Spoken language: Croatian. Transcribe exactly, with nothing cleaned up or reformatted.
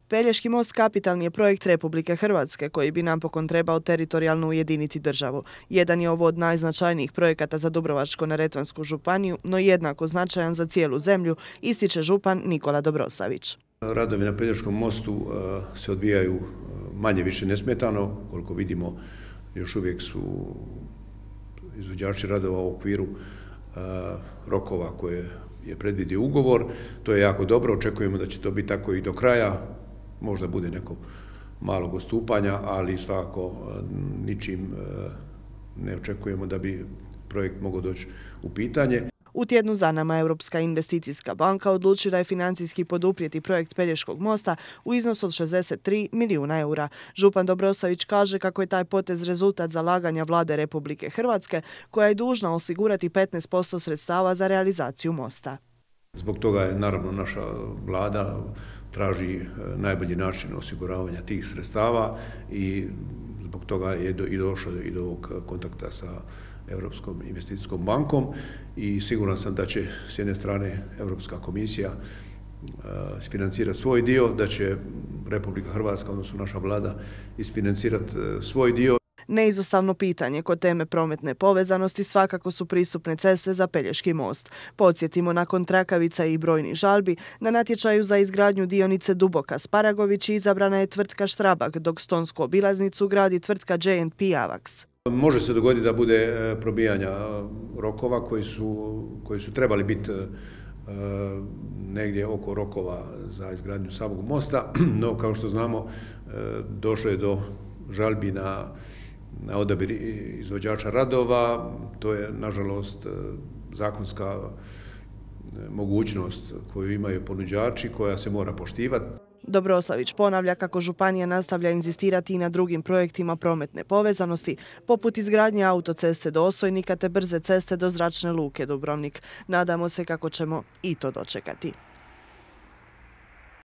Pelješki most kapitalni je projekt Republike Hrvatske koji bi napokon trebao teritorijalno ujediniti državu. Jedan je ovo od najznačajnijih projekata za Dubrovačko-neretvansku županiju, no jednako značajan za cijelu zemlju, ističe župan Nikola Dobrosavić. Radovi na Pelješkom mostu se odvijaju manje više nesmetano, koliko vidimo još uvijek su izvođači radova u okviru rokova koje je predvidio ugovor. To je jako dobro, očekujemo da će to biti tako i do kraja. Možda bude neko malog odstupanja, ali svakako ničim ne očekujemo da bi projekt mogao doći u pitanje. U tjednu za nama Europska investicijska banka odlučila je financijski poduprijeti projekt Pelješkog mosta u iznosu od šezdeset tri milijuna eura. Župan Dobrosavić kaže kako je taj potez rezultat zalaganja vlade Republike Hrvatske, koja je dužna osigurati petnaest posto sredstava za realizaciju mosta. Zbog toga je naravno naša vlada traži najbolji način osiguravanja tih sredstava i zbog toga je i došlo i do ovog kontakta sa Europskom investicijskom bankom i siguran sam da će s jedne strane Europska komisija isfinancirati svoj dio, da će Republika Hrvatska, odnosno naša vlada, isfinancirati svoj dio. Neizostavno pitanje kod teme prometne povezanosti svakako su pristupne ceste za Pelješki most. Podsjetimo, nakon trakavica i brojnih žalbi, na natječaju za izgradnju dionice Duboka-Sparagović izabrana je tvrtka Štrabak, dok stonsku obilaznicu gradi tvrtka J and P Avax. Može se dogoditi da bude probijanja rokova koji su, koji su trebali biti negdje oko rokova za izgradnju samog mosta, no kao što znamo došlo je do žalbi na na odabir izvođača radova. To je, nažalost, zakonska mogućnost koju imaju ponuđači, koja se mora poštivati. Dobrosavić ponavlja kako županija nastavlja inzistirati i na drugim projektima prometne povezanosti, poput izgradnje autoceste do Osojnika te brze ceste do zračne luke Dubrovnik. Nadamo se kako ćemo i to dočekati.